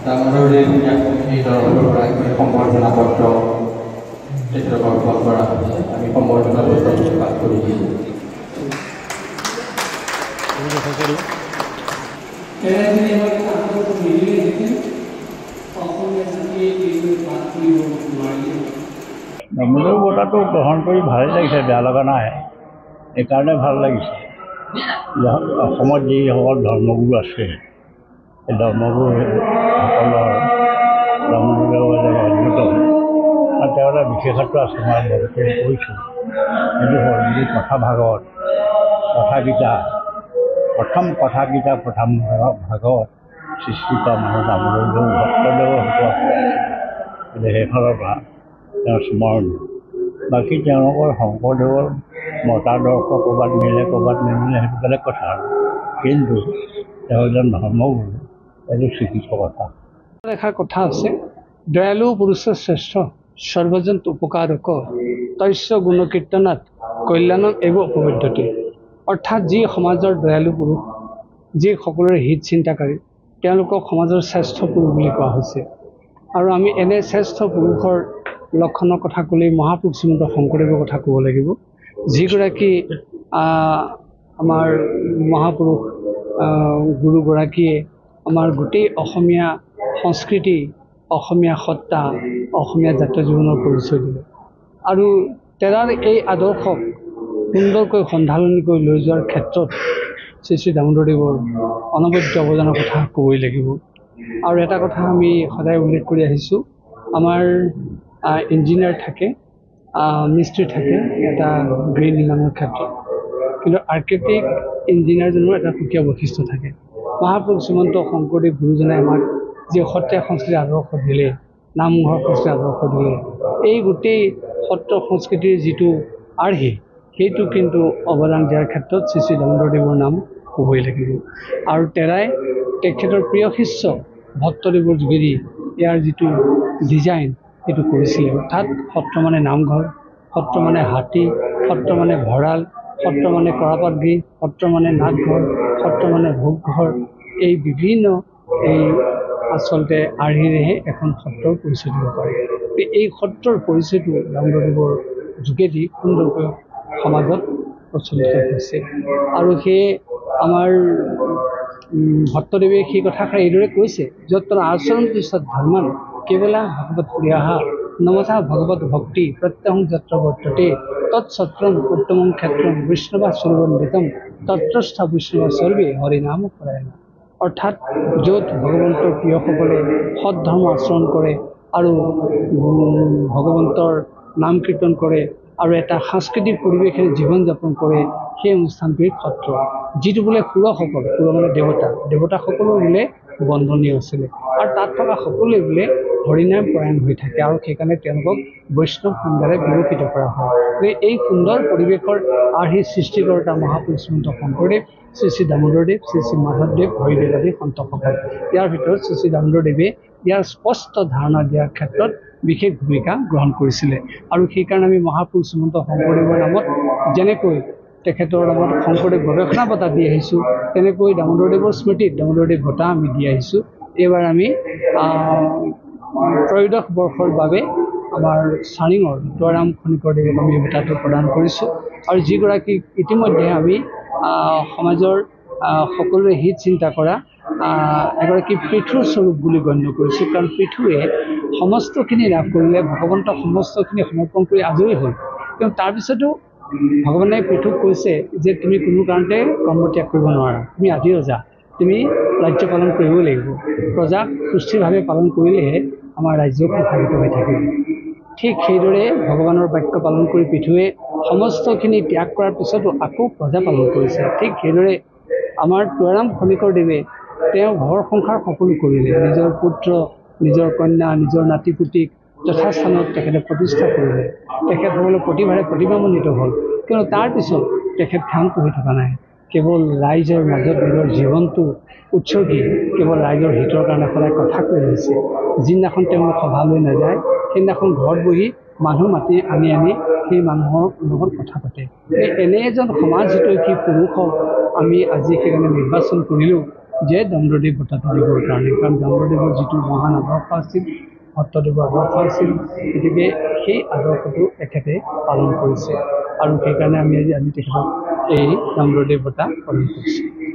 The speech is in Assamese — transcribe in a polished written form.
দামোদৰদেৱ ন্যাস কমিটিৰ তৰফৰ পৰা এখন সম্বৰ্ধনা পত্ৰ তেখেতক অৰ্পণ কৰা হৈছে। আমি সম্বৰ্ধনা পত্ৰ পাঠ কৰি দিছোঁ। দামোদৰ বঁটাটো গ্ৰহণ কৰি ভালেই লাগিছে, বেয়া লগা নাই। এইকাৰণে ভাল লাগিছে, অসমত যিসকল ধৰ্মগুৰু আছে, সেই ধৰ্মগুৰুসকলৰ দামোদৰদেৱ অন্যতম। আৰু তেওঁৰ এটা বিশেষত্ব আছে, মই বহুতে কৈছোঁ, সেইটো হ'ল যি কথা ভাগৱত, কথাগীতা, প্ৰথম কথাগীতা প্ৰথম ভাগৱত সৃষ্টি কৰা মানুহ দামোদৰদেৱ, ভট্টদেৱৰ হতুৱা। গতিকে সেইফালৰ পৰা তেওঁ স্মৰণীয়। বাকী তেওঁলোকৰ শংকৰদেৱৰ মতাদৰ্শ ক'ৰবাত মিলে, ক'ৰবাত নিমিলে, সেইটো বেলেগ কথা আৰু। কিন্তু তেওঁ এজন ধৰ্মগুৰু, এইটো স্বীকৃত কথা। এষাৰ কথা আছে, দয়ালু পুৰুষ শ্ৰেষ্ঠ সৰ্বজন উপকাৰক তস্য গুণকীৰ্তনাত কল্যাণম এব উপবদ্ধতে। অৰ্থাৎ যি সমাজৰ দয়ালু পুৰুষ, যি সকলোৰে হিত চিন্তাকাৰী, তেওঁলোকক সমাজৰ শ্ৰেষ্ঠ পুৰুষ বুলি কোৱা হৈছে। আৰু আমি এনে শ্ৰেষ্ঠ পুৰুষৰ লক্ষণৰ কথা ক'লেই মহাপুৰুষ শ্ৰীমন্ত শংকৰদেৱৰ কথা ক'ব লাগিব, যিগৰাকী আমাৰ মহাপুৰুষ গুৰুগৰাকীয়ে আমাৰ গোটেই অসমীয়া সংস্কৃতি, অসমীয়া সত্তা, অসমীয়া জাতীয় জীৱনৰ পৰিচয় দিলে। আৰু তেৰাৰ এই আদৰ্শক সুন্দৰকৈ সন্ধানলৈ লৈ যোৱাৰ ক্ষেত্ৰত শ্ৰী শ্ৰী দামোদৰদেৱৰ অনবদ্য অৱদানৰ কথা ক'বই লাগিব। আৰু এটা কথা আমি সদায় উল্লেখ কৰি আহিছোঁ, আমাৰ ইঞ্জিনিয়াৰ থাকে, মিস্ত্ৰী থাকে এটা গৃহ নিৰ্মাণৰ ক্ষেত্ৰত, কিন্তু আৰ্কিটেক্ট ইঞ্জিনিয়াৰজনৰো এটা সুকীয়া বৈশিষ্ট্য থাকে। মহাপুৰুষ শ্ৰীমন্ত শংকৰদেৱ গুৰুজনাই আমাক যি সত্ৰীয়া সংস্কৃতিৰ আদৰ্শ দিলে, নামঘৰ সংস্কৃতিৰ আদৰ্শ দিলে, এই গোটেই সত্ৰ সংস্কৃতিৰ যিটো আৰ্হি, সেইটো কিন্তু অৱদান দিয়াৰ ক্ষেত্ৰত শ্ৰী শ্ৰী দামোদৰদেৱৰ নাম ক'বই লাগিব। আৰু তেৰাই তেখেতৰ প্ৰিয় শিষ্য ভট্টদেৱৰ যোগেদি ইয়াৰ যিটো ডিজাইন সেইটো কৰিছিলে। অৰ্থাৎ সত্ৰ মানে নামঘৰ, সত্ৰ মানে হাতী, সত্ৰ মানে ভঁৰাল, সত্ৰ মানে কৰাপাত গৃহ, সত্ৰ মানে নাটঘৰ, সত্ৰ মানে ভোগঘৰ, এই বিভিন্ন এই আচলতে আৰ্হিৰেহে এখন সত্ৰৰ পৰিচয় দিব পাৰে। এই সত্ৰৰ পৰিচয়টো দামোদৰদেৱৰ যোগেদি সুন্দৰকৈ সমাজত প্ৰচলিত হৈছে। আৰু সেয়ে আমাৰ ভট্টদেৱে সেই কথাষাৰ এইদৰে কৈছে, য'ত আচৰন্তি সদ্ধৰ্মান কেৱলা ভগৱত প্ৰিয়াহা নমথা ভগৱত ভক্তি প্ৰত্যহং যত্ৰ বৰ্ততে তৎসত্ৰম উত্তমং ক্ষেত্ৰম বৈষ্ণৱা সৰ্বন্দিতম তত্ৰস্থ বৈষ্ণৱা সৰ্বে হৰিনাম পৰায়ণ। অৰ্থাৎ য'ত ভগৱন্তৰ প্ৰিয়সকলে সদ্ধৰ্ম আচৰণ কৰে আৰু ভগৱন্তৰ নাম কীৰ্তন কৰে আৰু এটা সাংস্কৃতিক পৰিৱেশেৰে জীৱন যাপন কৰে, সেই অনুষ্ঠানটোৱেই সত্ৰ। যিটো বোলে সুৰসকল, সুৰ মানে দেৱতা, দেৱতাসকলৰ বোলে বন্ধনীয় আছিলে আৰু তাত থকা সকলোৱে বোলে হৰিনাম পৰায়ণ হৈ থাকে আৰু সেইকাৰণে তেওঁলোকক বৈষ্ণৱ সংজ্ঞাৰে বিভূষিত কৰা হয়। গতিকে এই সুন্দৰ পৰিৱেশৰ আৰ্হি সৃষ্টিকৰ্তা মহাপুৰুষ শ্ৰীমন্ত শংকৰদেৱ, শ্ৰী শ্ৰী দামোদৰদেৱ, শ্ৰী শ্ৰী মাধৱদেৱ, হৰিদেৱ আদি সন্তসকল। ইয়াৰ ভিতৰত শ্ৰী শ্ৰী দামোদৰদেৱে ইয়াৰ স্পষ্ট ধাৰণা দিয়াৰ ক্ষেত্ৰত বিশেষ ভূমিকা গ্ৰহণ কৰিছিলে। আৰু সেইকাৰণে আমি মহাপুৰুষ শ্ৰীমন্ত শংকৰদেৱৰ নামত যেনেকৈ তেখেতৰ নামত শংকৰদেৱ গৱেষণা বঁটা দি আহিছোঁ, তেনেকৈ দামোদৰদেৱৰ স্মৃতিত দামোদৰদেৱ বঁটা আমি দি আহিছোঁ। এইবাৰ আমি ত্ৰয়োদশ বৰ্ষৰ বাবে আমাৰ চাৰিঙৰ দুৱাৰাম খনিকৰদেৱক আমি এই বঁটাটো প্ৰদান কৰিছোঁ। আৰু যিগৰাকীক ইতিমধ্যে আমি সমাজৰ সকলোৰে হিত চিন্তা কৰা এগৰাকী পৃথুৰ স্বৰূপ বুলি গণ্য কৰিছোঁ। কাৰণ পৃথুৱে সমস্তখিনি লাভ কৰিলে, ভগৱন্তক সমস্তখিনি সমৰ্পণ কৰি আজৰি হ'ল, কিন্তু তাৰপিছতো ভগৱানে পৃথুক কৈছে যে তুমি কোনো কাৰণতে কৰ্ম ত্যাগ কৰিব নোৱাৰা, তুমি আদি ৰজা, তুমি ৰাজ্য পালন কৰিবই লাগিব, প্ৰজাক সুস্থিৰভাৱে পালন কৰিলেহে আমাৰ ৰাজ্য সুশাসিত হৈ থাকিব। ঠিক সেইদৰে ভগৱানৰ বাক্য পালন কৰি পৃথুৱে সমস্তখিনি ত্যাগ কৰাৰ পিছতো আকৌ প্ৰজা পালন কৰিছে। ঠিক সেইদৰে আমাৰ তুৱাৰাম খনিকৰদেৱে তেওঁ ঘৰ সংসাৰ সকলো কৰিলে, নিজৰ পুত্ৰ, নিজৰ কন্যা, নিজৰ নাতি পুতিক যথাস্থানত তেখেতে প্ৰতিষ্ঠা কৰিলে, তেখেতসকলৰ প্ৰতিভাৰে প্ৰতিভামণ্ডিত হ'ল। কিন্তু তাৰপিছত তেখেত ক্ষান্ত হৈ থকা নাই, কেৱল ৰাইজৰ মাজত নিজৰ জীৱনটো উৎসৰ্গি কেৱল ৰাইজৰ হিতৰ কাৰণে সদায় কথা কৈ আহিছে। যিদিনাখন তেওঁলোক সভালৈ নাযায়, সেইদিনাখন ঘৰত বহি মানুহ মাতি আনি আনি সেই মানুহৰ লগত কথা পাতে। এই এনে এজন সমাজ হিতৈষী পুৰুষক আমি আজি সেইকাৰণে নিৰ্বাচন কৰিলোঁ। যে দামোদৰদেৱ বঁটাটো দিবৰ কাৰণে। কাৰণ দামোদৰদেৱৰ যিটো মহান আদৰ্শ আছিল, ভট্টদেৱৰ আদৰ্শ আছিল, গতিকে সেই আদৰ্শটো তেখেতে পালন কৰিছে আৰু সেইকাৰণে আমি আজি তেখেতক এই দামোদৰদেৱ বঁটা প্ৰদান কৰিছোঁ।